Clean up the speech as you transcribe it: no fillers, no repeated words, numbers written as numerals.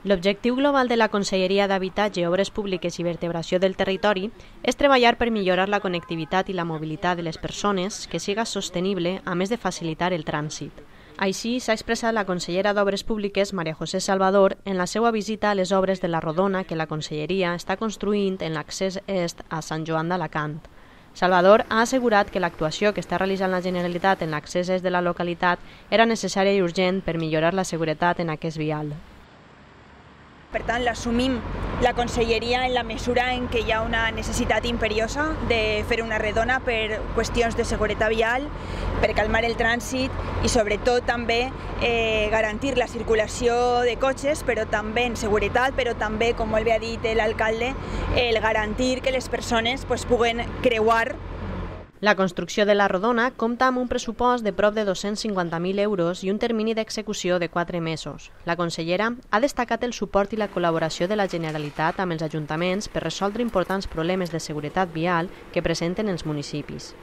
L'objectiu global de la Conselleria d'Habitatge, Obres Públiques i Vertebració del Territori és treballar per millorar la connectivitat i la mobilitat de les persones, que siga sostenible, a més de facilitar el trànsit. Així s'ha expressat la consellera d'Obres Públiques, Maria José Salvador, en la seva visita a les obres de la Rodona que la Conselleria està construint en l'accés est a Sant Joan d'Alacant. Salvador ha assegurat que l'actuació que està realitzant la Generalitat en l'accés est de la localitat era necessària i urgent per millorar la seguretat en aquest vial. Per tant, l'assumim la Conselleria en la mesura en què hi ha una necessitat imperiosa de fer una redona per qüestions de seguretat vial, per calmar el trànsit i sobretot també garantir la circulació de cotxes, però també en seguretat, però també, com molt bé ha dit l'alcalde, el garantir que les persones puguen creuar. La construcció de la Rodona compta amb un pressupost de prop de 250.000 euros i un termini d'execució de 4 mesos. La consellera ha destacat el suport i la col·laboració de la Generalitat amb els ajuntaments per resoldre importants problemes de seguretat vial que presenten els municipis.